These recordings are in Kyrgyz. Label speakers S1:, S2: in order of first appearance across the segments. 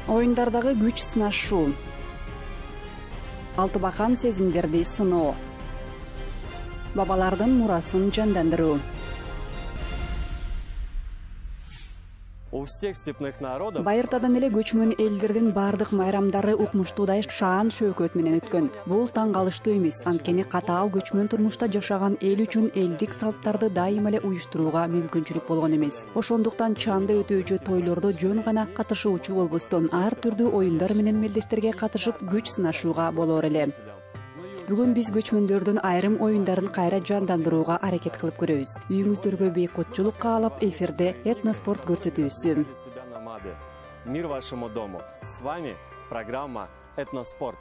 S1: Оюндардагы күч сынашуу. Алтыбакан сезимдерди сыноо. Бабалардын мурасын жандандыруу.
S2: У всех степных народов
S1: Байыртадан эле көчмөн элдердин бардык майрамдары укмуштуудай шаан шөкөт менен өткөн. Бул таң калыштуу эмес, анткени катаал көчмөн турмушта жашаган эл үчүн элдик салттарды дайыма эле уюштурууга мүмкүнчүлүк болгон эмес. Ошондуктан чанда өтүүчү тойлордо жөн гана катышуучу болбостон ар түрдүү оюндар менен мелдештерге катышып күч сынашууга болор эле. Бүгүн биз көчмөндөрдүн айрым оюндарын кайра жандандырууга аракет кылып көрөбүз. Үйүңүздөргө бейкотчулук каалап эфирде этноспорт көрсөтүүсү.
S2: Мир вашему дому. С вами программа «Этноспорт».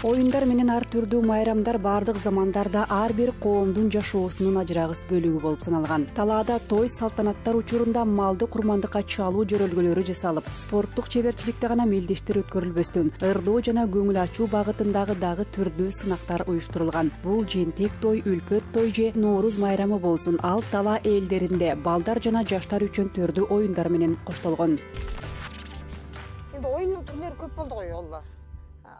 S1: Оюндар менен ар түрдүү майрамдар бардык замандарда ар бир коомдун жашоосунун ажырагыс бөлүгү болуп саналган. Талаада той салтанаттар учурунда малды курмандыкка чалуу жөрөлгөлөрү жасалып, спорттук чеберчиликте гана мелдештер өткөрүлбөстөн, ырдоо жана көңүл ачуу багытындагы дагы түрдүү сынактар уюштурулган. Бул жентек той, үлпөт той же Нооруз майрамы болсун, ал тала элдеринде балдар жана жаштар үчүн төрдүү оюндар менен коштолгон.
S3: Эми оюндун түрлөрү көп болду го олла.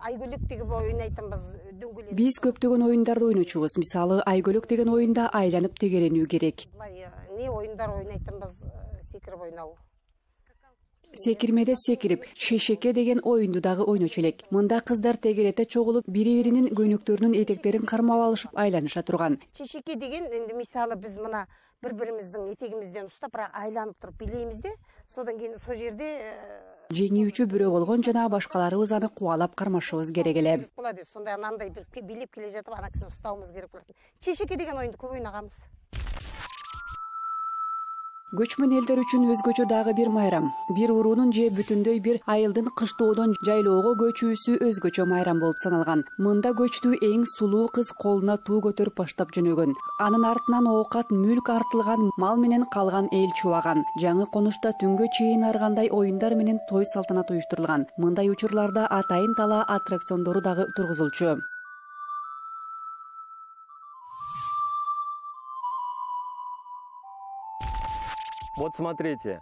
S3: Айгөлөк деген оюн айтамбыз, дөңгөлөк.
S1: Биз көптөгөн оюндарды ойночубуз. Мисалы, айгөлөк деген оюнда айланып тегеренүү керек.
S3: Не оюндар ойнайтынбыз, секирип ойноо.
S1: Секирмеде секирип, шешеке деген оюнду дагы ойночу элек. Мында кыздар тегерете чогулуп, бири-биринин көйнөктөрүнүн этектерин кармап алышып айланыша турган.
S3: Шешеке деген энди мисалы биз мына бири-биримиздин этегимизден устап, бирок айланып туруп билейбиз да, содан кийин сол жерде
S1: жеңүүчү бирөө болгон жана башкаларыбыз аны кубалап кармашыбыз керек эле.
S3: Болот, сондай анандай бир билеп келе жатып ана кишини уставыбыз керек болот. Чешеке деген оюнду көп ойнаганбыз.
S1: Көчмөн элдер үчүн өзгөчө дагы бир майрам. Бир уруунун же бүтүндөй бир айылдын кыштоодон жайлоого көчүүсү өзгөчө майрам болуп саналган. Мында көчтү эң сулуу кыз колуна туу көтөрүп баштап жөнөгөн. Анын артынан оокат, мүлк артылган, мал менен калган эл чубаган. Жаңы конушта түнгө чейин аргандай оюндар менен той салтанат уюштурулган. Мындай учурларда атайын тала аттракциондору дагы тургузулчу.
S2: Вот смотрите,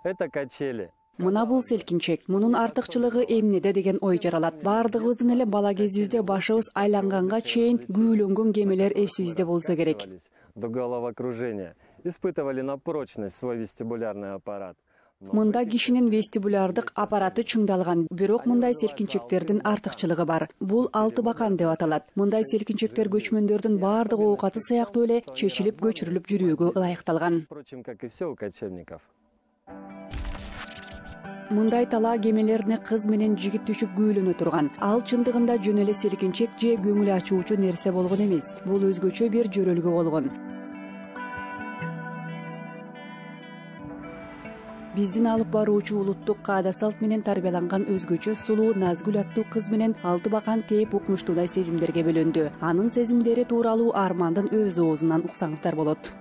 S2: это качели.
S1: Мына бул селкинчек. Мунун артыкчылыгы эмнеде деген ой жаралат. Бардыгыбыздын эле бала кезибизде башыбыз айланганга чейин күүлөнгөн кемелер эсибизде болсо керек.
S2: До головокружения. Испытывали на прочность свой вестибулярный аппарат.
S1: Мында кишинин вестибулярдык аппараты чыңдалган, бирок мындай селкинчектердин артыкчылыгы бар. Бул алтыбакан деп аталат. Мындай селкинчектер көчмөндөрдүн бардык оокаты сыяктуу эле чечилип көчүрүлүп жүрүүгө ылайыкталган.
S2: Впрочем, как и все у кочевников.
S1: Мындай тала кемелерине кыз менен жигит түшүп күүлөнө турган. Ал чындыгында жөн эле селкинчек же көңүл ачуучу нерсе болгон эмес. Бул өзгөчө бир жөрөлгө болгон. Биздин алып баруучу улуттук каада салт менен тарбияланган өзгөчө сулуу Назгүл аттуу кыз менен Алтыбакан тээп укмуштуудай сезимдерге бөлөндү. Анын сезимдери тууралуу Армандын өз оозунан уксаңыздар болот.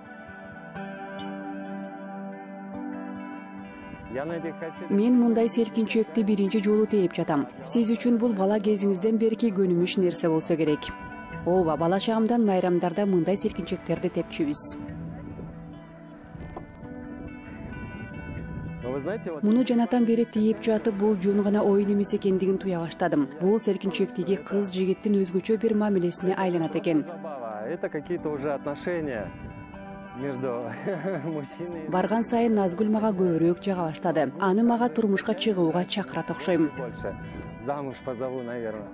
S1: Мен мындай селкинчекти биринчи жолу тээп жатам. Сиз үчүн бул бала кезиңизден берки көнүмүш нерсе болсо керек. Ооба, бала чагымдан майрамдарда мындай селкинчектерди тепчүбүз. Муну жанатан бери тээп жатып, бул жөн гана оюн эмес экендигин туя баштадым. Бул селкинчектиги кыз жигиттин өзгөчө бир мамилесине айланат экен.
S2: Это какие-то уже отношения между мужчиной.
S1: Барган сайын Назгүл мага көбүрөөк жага баштады. Аны мага турмушка чыгууга чакырат окшойм.
S2: Замуж позову, наверное.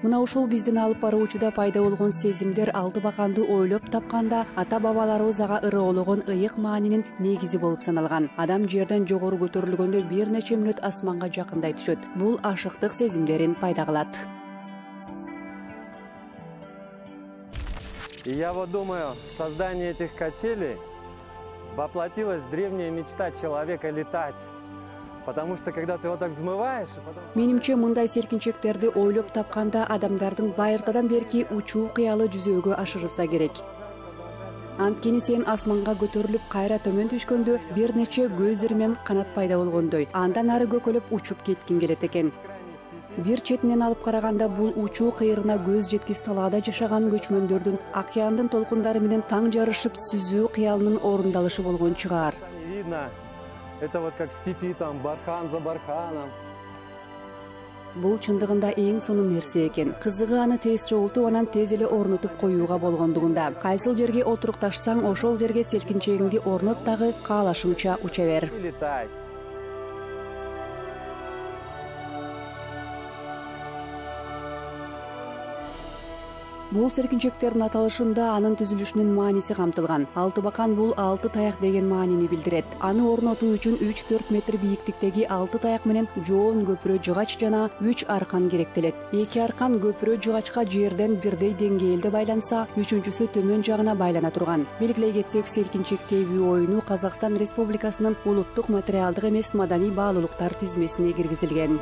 S1: Мына ушул биздин алып баруучуда пайда болгон сезимдер Алтыбаканды ойлоп тапканда ата-бабаларыбыз ага ырыологон ыйык маанинин негизи болуп саналган. Адам жерден жогору көтөрүлгөндө бир нече мүнөт асманга жакындай түшөт. Бул ашыктык сезимдерин пайда кылат.
S2: И я вот думаю, создание этих качелей воплотилась древняя мечта человека летать. Потому что когда ты вот так взмываешь,
S1: Менимче мындай селкинчектерди ойлоп тапканда адамдардын байыртадан берки учуу кыялы жүзөөгө ашырылса керек. Анткени сен асманга көтөрүлүп кайра төмөн түшкөндө бир нече көз ирмем канат пайда болгондой, андан ары көкөлөп учуп кеткиң келет экен. Бир четинен алып караганда бул учуу кыйрына көз жеткис талаада жашаган көчмөндөрдүн океандын толкундары менен таң жарышып сүзүү кыялынын орундалышы болгон чыгаар.
S2: Это вот как в степи, там, бархан за барханом.
S1: Бул чындыгында эң сонун нерсе экен. Кызыгы аны тез чогултуп, анан тез эле орнотуп коюуга болгондугунда. Кайсыл жерге отурукташсаң, ошол жерге селкинчегиңди орнот дагы каалашыңча уча бер.
S2: Летай.
S1: Бул селкинчектердин аталышында анын түзүлүшүнүн мааниси камтылган. Алтыбакан бул 6 таяк деген маанини билдирет. Аны орнотуу үчүн 3-4 метр бийиктиктеги 6 таяк менен жоон көпүрө жыгач жана 3 аркан керектелет. 2 аркан көпүрө жыгачка жерден бирдей деңгээлде байланса, үчүнчүсү төмөн жагына байлана турган. Белгилей кетсек, селкинчек тебүү оюну Казакстан Республикасынын улуттук материалдык эмес маданий баалуулуктар тизмесине киргизилген.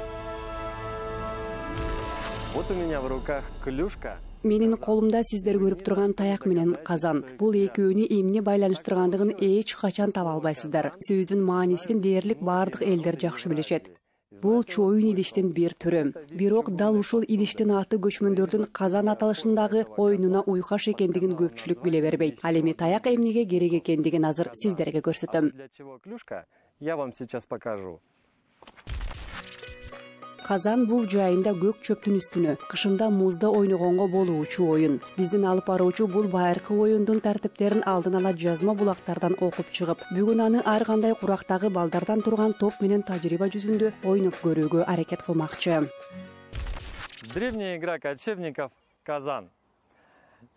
S2: Вот у меня в руках клюшка.
S1: Менин колумда сиздер көрүп турган таяк менен казан. Бул экөөнү эмне байланыштыргандыгын эч качан таба албайсыздар. Сөздүн маанисин дээрлик бардык элдер жакшы билишет. Бул чоюн идиштин бир түрү. Бирок дал ушул идиштин аты көчмөндөрдүн казан аталышындагы оюнуна уйкаш экендигин көпчүлүк биле бербейт. Ал эми таяк эмнеге керек экендигин азыр сиздерге көрсөтөм.
S2: Для чего клюшка? Я вам сейчас покажу.
S1: Казан бул жайында көк чөптүн үстүнө, кышында музда ойногонго болуучу оюн. Биздин алып баруучу бул байыркы оюндун тартиптерин алдын ала жазма булактардан окуп чыгып, бүгүн аны ар кандай курактагы балдардан турган топ менен тажрыйба жүзүндө ойноп көрүүгө аракет кылмакчы.
S2: Древняя игра кочевников Казан.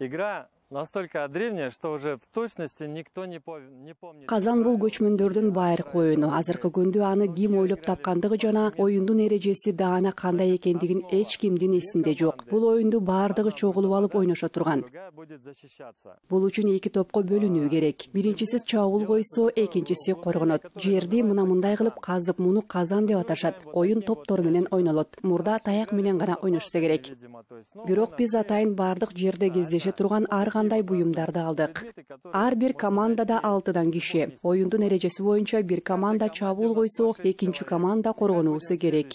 S2: Игра настолько древняя, что уже в точности никто не помнит.
S1: Казан бул көчмөндөрдүн байыркы оюну. Азыркы күндө аны ким ойлоп тапкандыгы жана оюндун эрежеси даана кандай экендигин эч кимдин эсинде жок. Бул оюнду баардыгы чогулуп алып ойношо турган. Бул үчүн 2 топко бөлүнүү керек. Биринчиси чабуул койсо, экинчиси коргонот. Жерди мындай кылып казып, муну казан деп аташат. Оюн топтор менен ойнолот. Мурда таяк менен гана ойношсо керек. Бирок биз атайын бардык жерде кездеше турган ар кандай буюмдарды алдык. Ар бир командада 6 киши. Оюндун эрежеси боюнча бир команда чабуул койсо, экинчи команда коргонуусу керек.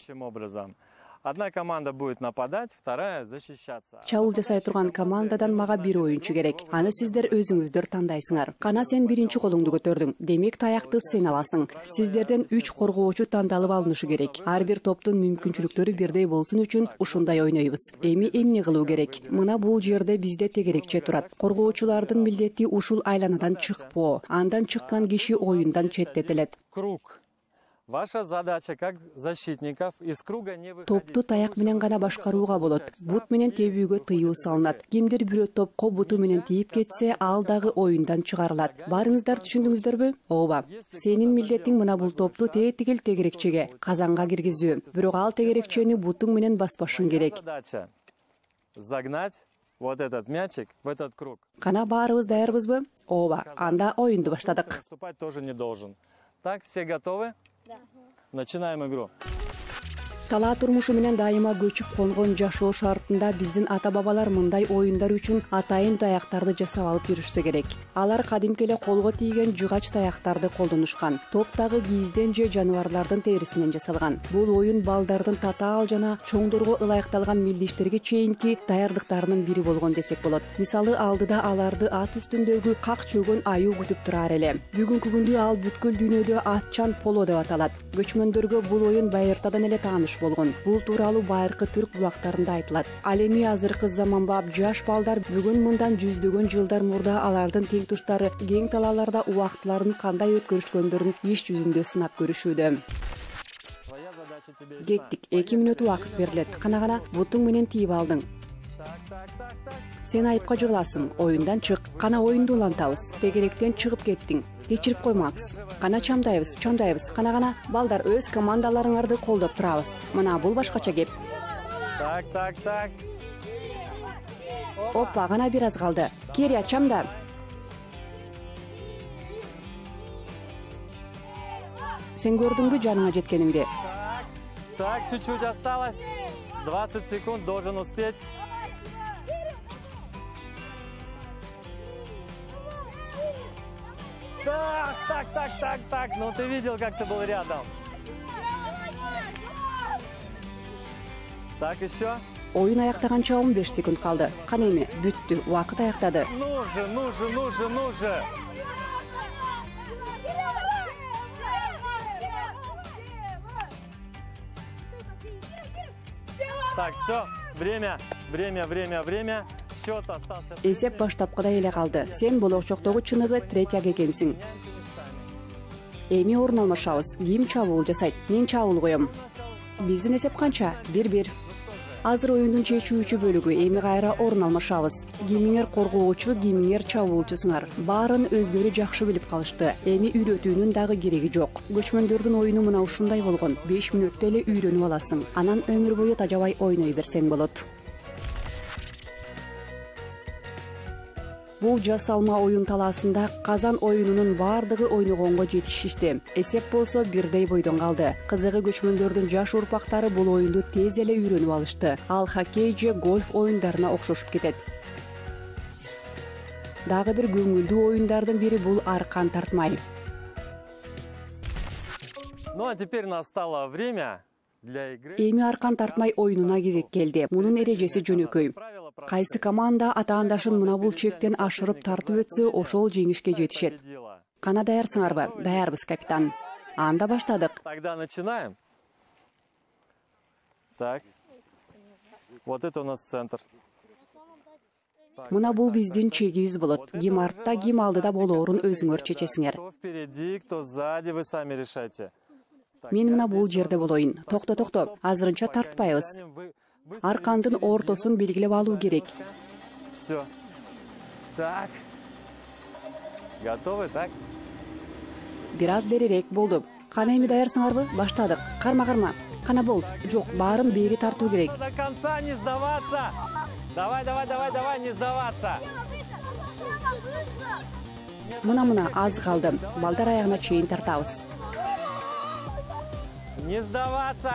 S2: Одна команда будет нападать, вторая защищаться.
S1: Чабуул жасай турган командадан мага бир оюнчу керек. Аны сиздер өзүңүздөр тандайсыңар. Кана сен биринчи колуңду көтөрдүң. Демек таякты сен аласың. Сиздерден 3 коргоочу тандалып алынышы керек. Ар бир топтун мүмкүнчүлүктөрү бирдей болсун үчүн ушундай ойнойбуз. Эми эмне кылуу керек? Мына бул жерде бизде тегерекче турат. Коргоочулардын милдети ушул айланадан чыкпоо. Андан чыккан киши оюндан четтетилет.
S2: Круг. Ваша задача как защитников из круга не выходить.
S1: Топту таяк менен гана башкарууга болот. Бут менен тебүүгө тыюу салынат. Кимдир бирөө топко буту менен тийип кетсе, ал дагы оюндан чыгарылат. Барыңыздар түшүндүңүздөрбү? Ооба. Сенин милдетиң мына бул топту тетигил тегерекчеге, казанга киргизүү. Бирок ал тегерекчени бутуң менен баспашың керек.
S2: Задача загнать вот этот мячик в этот круг.
S1: Кана баарыбыз даярбызбы? Ооба. Анда оюнду баштадык.
S2: Наступать тоже не должен. Так, все готовы? Начинаем игру.
S1: Талаа турмушу менен дайыма көчүп конгон жашоо шартында биздин ата-бабалар мындай оюндар үчүн атайын таяктарды жасап алып жүрүшсө керек. Алар кадимки эле колго тийген жыгач таяктарды колдонушкан. Топтагы кийизден же жаныбарлардын терисинен жасалган. Бул оюн балдардын татаал жана чоңдорго ылайыкталган милдештерге чейинки даярдыктарынын бири болгон десек болот. Мисалы, алдыда аларды ат үстүндөгү как чөгөн аюу күтүп турар эле. Бүгүнкү күндө ал бүткүл дүйнөдө атчан поло деп аталат. Көчмөндөргө бул оюн байыртадан эле тааныш болгон. Бул тууралуу байыркы түрк булактарында айтылат. Ал эми азыркы заманбап жаш балдар бүгүн мындан жүздөгөн жылдар мурда алардын тең туштары кең талааларда убактыларын кандай өткөрүшкөндөрүн иш жүзүндө сынап көрүшүүдө. Кеттик, 2 мүнөт убакыт берилет. Кана бутуң менен тийип алдың. Сен айыпка жыгыласың. Оюндан чык. Кана оюнду улантабыз. Тегеректен чыгып кеттиң. Кечирип коймаксыз. Кана чамдайбыз. Кана балдар, өз командаларыңарды колдоп турабыз. Мына бул башкача кеп.
S2: Так.
S1: Опа, гана бир аз калды. Керия, чамда. Сен көрдүңбү жаныңа жеткениңди?
S2: Так, чуть-чуть осталось. 20 секунд, должен успеть. Так. Ну ты видел, как ты был рядом. Так, еще.
S1: Оюн аяктаганча 15 секунд калды. Кана эми бүттү, убакыт аяктады.
S2: Ну же. Так, все, время. Счет остался.
S1: Эсеп баштапкыдай эле калды. Сен болочоктогу чыныгы третьяк экенсиң. Эми орун алмашабыз. Ким чабуул жасайт? Мен чабуул коем. Биздин эсеп канча? 1-1. Азыр оюндун чечүүчү бөлүгү. Эми кайра орун алмашабыз. Кимиңер коргоочу, кимиңер чабуулчусуңар. Баарын өздөрү жакшы билип калышты. Эми үйрөтүүнүн дагы кереги жок. Көчмөндөрдүн оюну мына ушундай болгон. 5 мүнөттө эле үйрөнүп аласың. Анан өмүр бою тажабай ойной берсең болот. Бул жасалма оюн талаасында Казан оюнунун бардыгы ойногонго жетишишти. Эсеп болсо бирдей бойдон калды. Кызыгы көчмөндөрдүн жаш урпактары бул оюнду тез эле үйрөнүп алышты. Ал хоккей же гольф оюндарына окшошуп кетет. Дагы бир көңүлдүү оюндардын бири бул аркан тартмай.
S2: Ну а теперь настало время для игры.
S1: Эми аркан тартмай оюнуна кезек келди. Мунун эрежеси жөнөкөй. Кайсы команда атаандашын мына бул чектен ашырып тартып өтсө, ошол жеңишке жетишет. Кана даярсыңарбы? Даярбыз, капитан. Анда баштадык.
S2: Тогда начинаем. Так. Вот это у нас центр.
S1: Мына бул биздин чегибиз болот. Ким артта, ким алдыда болоорун өзүңөр чечесиңер.
S2: Кто впереди, кто сзади, вы сами решайте.
S1: Мен мына бул жерде болоюн. Токто. Азырынча тартпайбыз. Аркандын ортосун белгилеп алуу керек.
S2: Все. Так. Готовы, так?
S1: Бир аз берирээк болду. Кана эми даярсыңарбы? Баштадык. Карма. Кана бол. Жок, баарын бери тартуу керек.
S2: До конца не сдаваться. Давай, не сдаваться.
S1: Мына аз калды. Балдар аягына чейин тартабыз.
S2: Не сдаваться.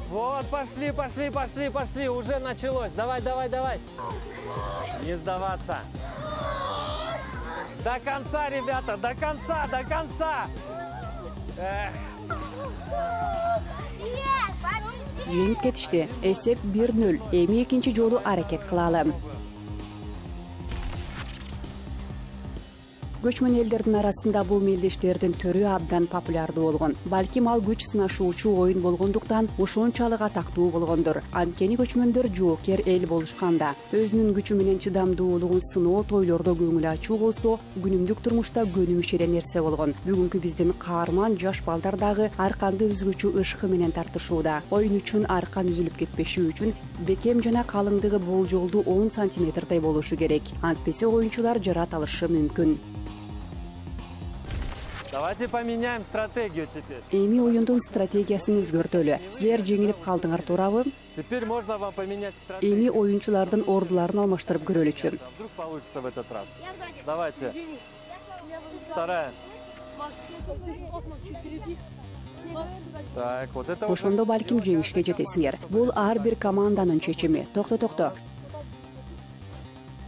S2: Вот, пошли. Уже началось. Давай. Не сдаваться. До конца, ребята, до конца.
S1: Жеңип кетишти. Эсеп 1-0. Эми экинчи жолу аракет кылалы. Көчмөн элдердин арасында бул мелдештердин түрү абдан популярдуу болгон. Балким ал күч сынашуучу оюн болгондуктан ошончалык атактуу болгондур. Анткени көчмөндөр жоокер эл болушканда, өзүнүн күчү менен чыдамдуулугун сыноо тойлордо көңүл ачуу болсо, күнүмдүк турмушта көнүмүш эле нерсе болгон. Бүгүнкү биздин каарман жаш балдар дагы арканды өзгөчө ышкы менен тартышууда. Оюн үчүн аркан үзүлүп кетпеши үчүн бекем жана калыңдыгы болжолду 10 сантиметрдей болушу керек. Антпесе оюнчулар жарат алышы мүмкүн.
S2: Давайте поменяем стратегию теперь.
S1: Эми оюндун стратегиясын өзгөртөлү. Силер жеңилип калдыңар, туурабы?
S2: Теперь можно вам поменять стратегию.
S1: Эми оюнчулардын ордуларын алмаштырып көрөлүчү.
S2: Вдруг получится в этот раз. Давайте. Вторая. Так, вот это уже.
S1: Ошондо балким жеңишке жетесиңер. Бул ар бир команданын чечими. Токто.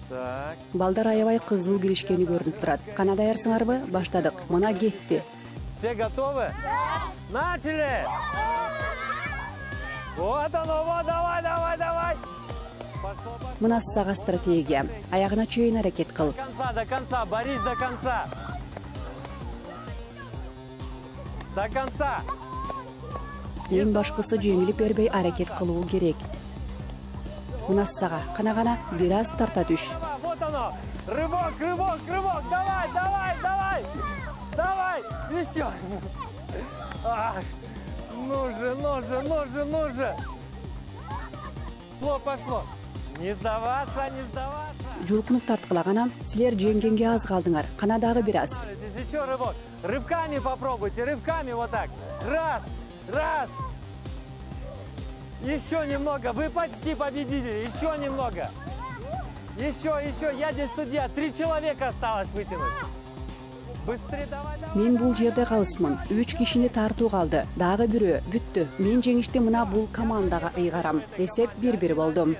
S2: Так.
S1: Балдар аябай кызуу киришкени көрүнүп турат. Кана даярсыңарбы? Баштадык. Мына кетти.
S2: Все готовы? Начали! Вот оно, вот, давай! Пошло.
S1: Мына сага стратегия. Аягына чейин аракет кыл.
S2: До конца, борись до конца. До конца.
S1: Эң башкысы жеңилип бербей аракет кылуу керек. Мына сага, кана, бир аз тарта түш.
S2: Вот оно! Рывок! Давай! Еще! Ну же! Пошло! Не сдаваться!
S1: Жулкунуп тарткылагана, силер жеңгенге аз калдыңар. Кана дагы бир аз.
S2: Еще рывок! Рывками попробуйте, рывками вот так! Раз! Еще немного, вы почти победили, еще немного. Еще, я здесь судья, 3 человека осталось вытянуть. Быстрее, давай.
S1: Мен бул жерде калысмын. 3 кишини тартуу калды. Дагы бирөө, бүттү. Мен жеңишти мына бул командага ыйгарам. Эсеп 1-1 болду.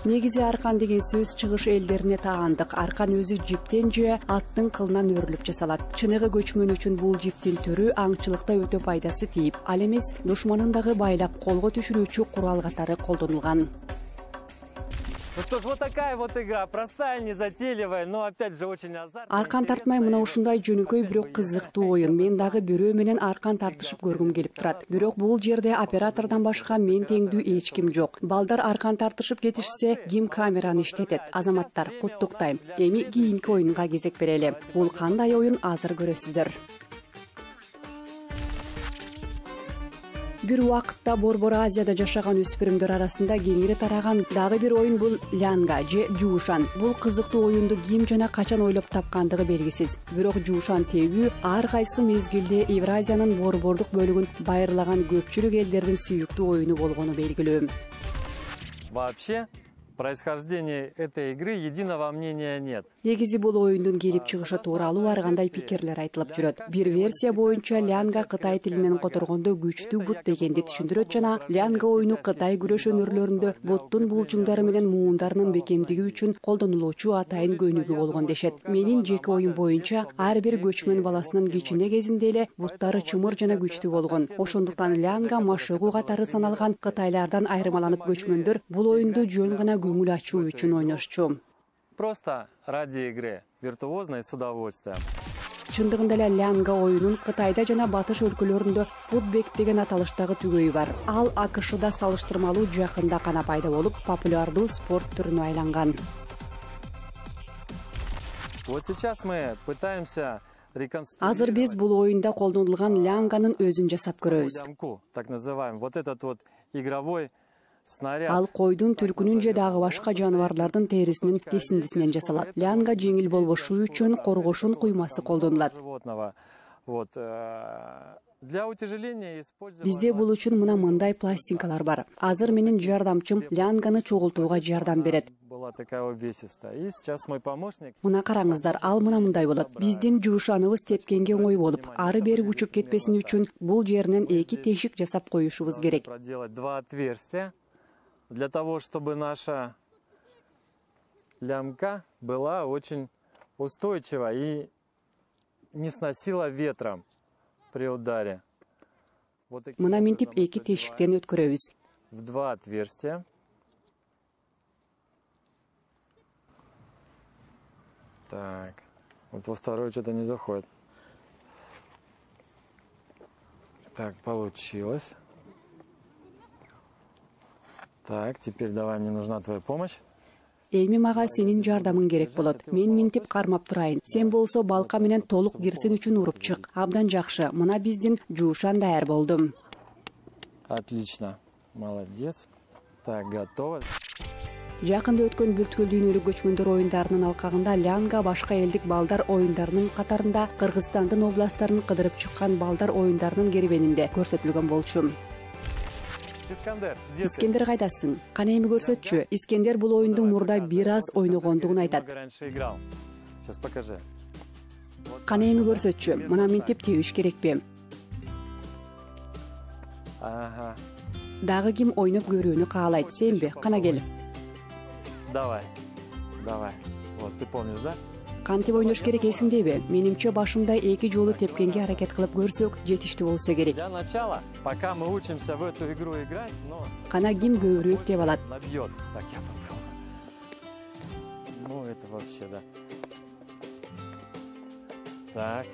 S1: Негизи аркан деген сөз чыгыш элдерине таандык. Аркан өзү жиптен же аттын кылынан өрүлүп жасалат. Чыныгы көчмөн үчүн бул жиптин түрү аңчылыкта өтө пайдасы тийип, ал эмес душманын дагы байлап колго түшүрүүчү курал катары колдонулган.
S2: Ну что ж, вот такая вот игра, простая, незатейливая, но опять же очень азартная.
S1: Аркан тартмай мына ушундай жөнөкөй бирок кызыктуу оюн. Мен дагы бирөө менен аркан тартышып көргүм келип турат. Бирок бул жерде оператордон башка мен теңдүү эч ким жок. Балдар аркан тартышып кетишсе, ким камераны иштетет? Азаматтар, куттуктайм. Эми кийинки оюнга кезек берели. Бул кандай оюн, азыр көрөсүздөр. Бир убакытта Борбор Азияда жашаган өспүрүмдөр арасында кеңири тараган дагы бир оюн бул лянга же жуушан. Бул кызыктуу оюнду ким жана качан ойлоп тапкандыгы белгисиз. Бирок жуушан тебүү ар кайсы мезгилде Евразиянын борбордук бөлүгүн байырлаган көпчүлүк элдердин сүйүктүү оюну болгону белгилүү.
S2: Вообще, в происхождении этой игры единого мнения нет.
S1: Негизи бул оюндун келип чыгышы тууралуу ар кандай пикирлер айтылып жүрөт. Бир версия боюнча лянга Кытай тилинен которгондо күчтүү бут дегенди түшүндүрөт жана лянга оюну Кытай күрөш өнөрлөрүндө буттун булчуңдары менен муундарынын бекемдиги үчүн колдонулуучу атайын көнүгүү болгон дешет. Менин жеке оюм боюнча ар бир көчмөн баласынын кичине кезинде эле буттары чымыр жана күчтүү болгон. Ошондуктан лянга машыгуу катары саналган кытайлардан айырмаланып көчмөндөр бул оюнду жөн гана көңүл ачуу үчүн ойношчу.
S2: Просто ради игры, виртуозно и с удовольствием.
S1: Чындыгында эле лянга оюнун Кытайда жана батыш өлкөлөрүндө футбек деген аталыштагы түгөйү бар. Ал АКШда салыштырмалуу жакында гана пайда болуп, популярдуу спорт түрүнө айланган.
S2: Вот сейчас мы пытаемся
S1: Азыр биз бул оюнда колдонулган лянганын өзүн жасап көрөбүз.
S2: Так называемый, вот этот вот игровой снаряд.
S1: Ал койдун, түлкүнүн же дагы башка жаныбарлардын терисинин кесиндисинен жасалат. Лянга жеңил болбошу үчүн коргошун куймасы колдонулат.
S2: Вот для утяжеления использовать.
S1: Бизде бул үчүн мындай пластинкалар бар. Азыр менин жардамчым лянганы чогултууга жардам берет.
S2: Была такая увесистая. И сейчас мой помощник.
S1: Мына караңыздар, ал мындай болот. Биздин жуушаныбыз тепкенге оңой болуп, ары бери учуп кетпесин үчүн бул жеринен 2 тешик жасап коюшубуз керек.
S2: Проделать 2 отверстия для того, чтобы наша лямка была очень устойчива и не сносила ветром при ударе.
S1: Мына мынтип 2 тешиктен өткөрөбүз.
S2: В 2 отверстия. Так, вот во второе что-то не заходит. Так, получилось. Так, теперь давай, мне нужна твоя помощь.
S1: Эми мага сенин жардамың керек болот. Мен минтип кармап турайын. Сен болсо балка менен толук кирсин үчүн уруп чык. Абдан жакшы. Мына биздин жуушан даяр болду.
S2: Отлично. Молодец. Так, готово.
S1: Жакында өткөн Бүткүл дүйнөлүк көчмөндөр оюндарынын алкагында лянга башка элдик балдар оюндарынын катарында Кыргызстандын областтарын кыдырып чыккан балдар оюндарынын кербенинде көрсөтүлгөн болчу. Искендер кайдасың? Кана эми көрсөтчү. Искендер бул оюнду мурда бир аз ойногондугун айтат.
S2: Сейчас покажи.
S1: Кана эми көрсөтчү. Мына мынтип тебиш керекпи?
S2: Ага.
S1: Дагы ким ойноп көрүүнү каалайт, сенби? Кана кел.
S2: Давай. Вот, ты помнишь, да?
S1: Кантип ойнош керек эсиңдеби? Менимче башында 2 жолу тепкенге аракет кылып көрсөк, жетиштүү болсо керек.
S2: Для начала, пока мы учимся в эту игру играть, но
S1: Кана ким көбүрөөк деп алат.
S2: набьет. Так, я попробую. Ну, это вообще, да. Так.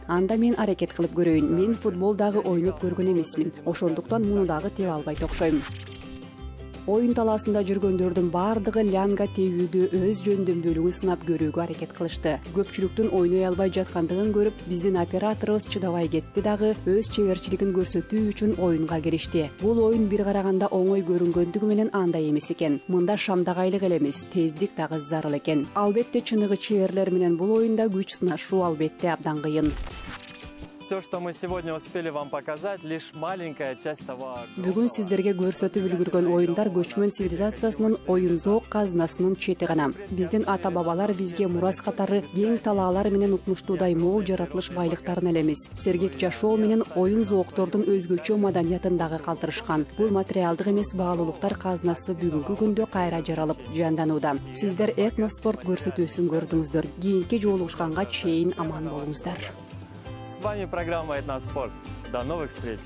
S1: Анда мен аракет кылып көрөйүн. Мен футбол дагы ойноп көргөн эмесмин. Ошондуктан муну дагы тебе албайт окшойм. Оюн талаасында жүргөндөрдүн бардыгы лянга тебүүдө өз жөндөмдүүлүгүн сынап көрүүгө аракет кылышты. Көпчүлүктүн ойной албай жаткандыгын көрүп, биздин операторубуз чыдабай кетти дагы өз чеберчилигин көрсөтүү үчүн оюнга киришти. Бул оюн бир караганда оңой көрүнгөндүгү менен андай эмес экен. Мында шамдагайлык эле эмес, тездик дагы зарыл экен. Албетте чыныгы чеберлер менен бул оюнда күч сынашуу албетте абдан кыйын.
S2: Все, что мы сегодня успели вам показать, лишь маленькая часть того.
S1: Бүгүн сиздерге көрсөтүп үлгүргөн оюндар көчмөн цивилизациясынын оюн зоок казынасынын чети гана. Биздин ата-бабалар бизге мурас катары кең талаалар менен укмуштуудай мол жаратылыш байлыктарын эле эмес, сергек жашоо менен оюн зооктордун өзгөчө маданиятын дагы калтырышкан. Бул материалдык эмес баалуулуктар казынасы бүгүнкү күндө кайра жаралып, жанданууда. Сиздер этноспорт көрсөтүүсүн көрдүңүздөр. Кийинки жолугушканга чейин аман болуңуздар.
S2: С вами программа «Этноспорт». До новых встреч!